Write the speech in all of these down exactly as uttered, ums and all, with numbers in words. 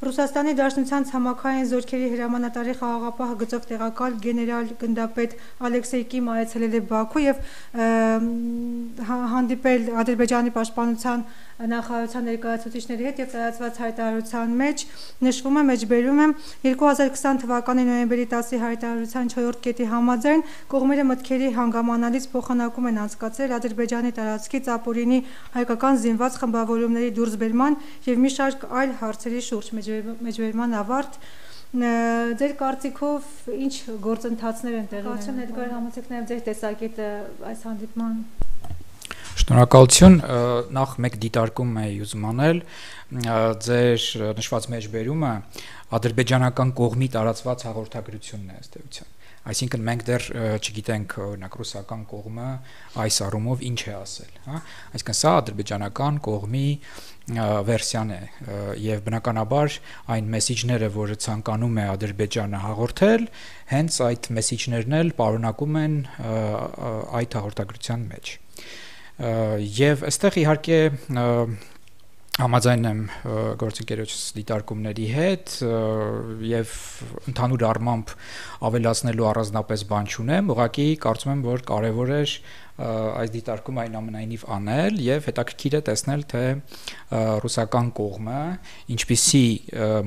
Ռուսաստանի Դաշնության ցամաքային զորքերի հրամանատարի խաղաղապահ գծով տեղակալ գեներալ գնդապետ Ալեքսեյ Կիմ այցելել է Բաքու եւ հանդիպել Ադրբեջանի պաշտպանության նախարարության ներկայացուցիչների հետ եւ տարածված հայտարարության մեջ նշվում է մեջբերում է երկու հազար քսան թվականի նոյեմբերի տասի հայտարարության չորրորդ կետի համաձայն կողմերը մտքերի հանգամանալից փոխանակում են անցկացրել Ադրբեջանի տարածքից ապօրինի հայկական զինված խմբավորումների դուրսբերման եւ մի շարք այլ հարցերի շուրջ մեջբերման ավարտ Ձեր կարծիքով ինչ գործընթացներ են տեղի ունենում Էդգար համեցեք նաեւ ձեր տեսակետը այս հանդիպման Շնորհակալություն նախ մեկ դիտարկում էի ուզում անել ձեր նշված մեջբերումը ադրբեջանական կողմի տարածված հաղորդագրությունն է ըստ էության Այսինքն մենք դեռ չգիտենք օրինակ ռուսական կողմը այս առումով ինչ է ասել, հա, այսինքն սա ադրբեջանական կողմի վերսիան է եւ բնականաբար այն մեսեջները, որը ցանկանում է Ադրբեջանը հաղորդել, հենց այդ մեսեջներն էլ պարունակում են այդ հաղորդագրության մեջ։ Եվ այստեղ իհարկե Համաձայն եմ գործընկերոջս դիտարկումների հետ եւ ընդհանուր առմամբ ավելացնելու առանձնապես բան չունեմ, ուղղակի կարծում եմ, որ կարեւոր է այս դիտարկումը այնուամենայնիվ անել եւ հետաքրքիր է տեսնել, թե ռուսական կողմը ինչպիսի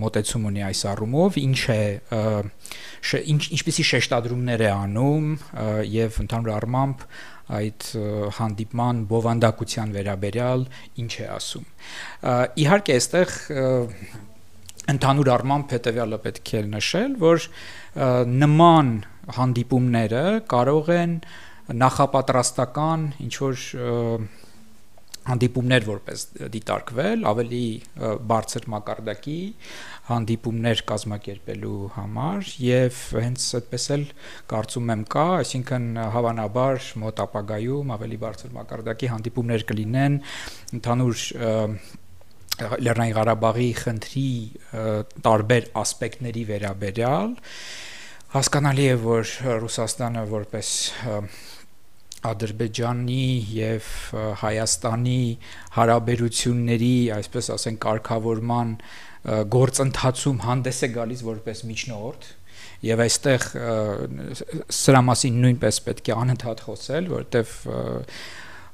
մոտեցում ունի այս առումով, ինչ է ինչ ինչպիսի շեշտադրումներ է անում եւ ընդհանուր առմամբ այդ հանդիպման բովանդակության վերաբերյալ ինչ է ասում։ Իհարկե այստեղ ընդհանուր առմամբ հետեւյալը պետք է նշել, որ նման հանդիպումները կարող են նախապատրաստական ինչ որ հանդիպումներ որպես դիտարկվել, ավելի բարձր մակարդակի հանդիպումներ կազմակերպելու համար եւ հենց այդպես էլ կարծում եմ կա, այսինքն հավանաբար մոտ ապագայում ավելի բարձր մակարդակի հանդիպումներ կլինեն ընդհանուր Լեռնային Ղարաբաղի խնդրի տարբեր ասպեկտների վերաբերյալ հասկանալի է, որ Ռուսաստանը որպես Ադրբեջանի եւ Հայաստանի հարաբերությունների, այսպես ասենք, կարգավորման գործընթացում հանդես է գալիս որպես միջնորդ եւ այստեղ սրա մասին նույնպես պետք է անընդհատ խոսել, որտեւ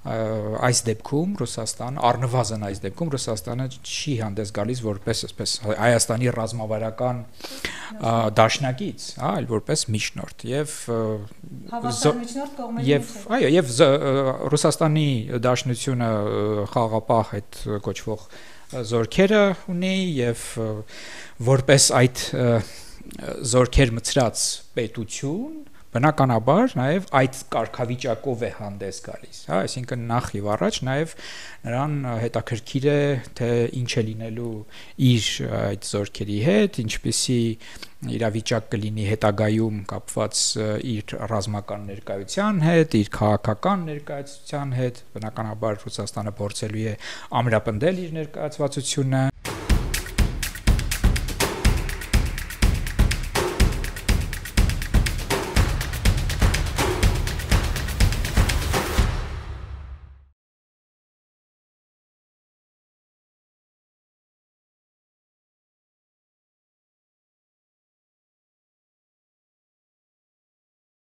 այս դեպքում Ռուսաստան առնվազն այս դեպքում Ռուսաստանը չի հանդես գալիս որպես այսպես Հայաստանի ռազմավարական դաշնակից, հա, այլ որպես միջնորդ եւ եւ այո եւ Ռուսաստանի դաշնությունը խաղաղապահ այդ կոչվող զորքերը ունի եւ որպես այդ զորքեր մցրած պետություն Բնականաբար նաև այդ կարգավիճակով է հանդես գալիս, հա, այսինքն նախ եւ առաջ նաև նրան հետաքրքիր է թե ինչ է լինելու իր այդ զորքերի հետ, ինչպիսի իրավիճակ կլինի հետագայում կապված իր ռազմական ներկայության հետ, իր քաղաքական ներկայացության հետ, բնականաբար Ռուսաստանը փորձելու է ամրապնդել իր ներկայացվածությունը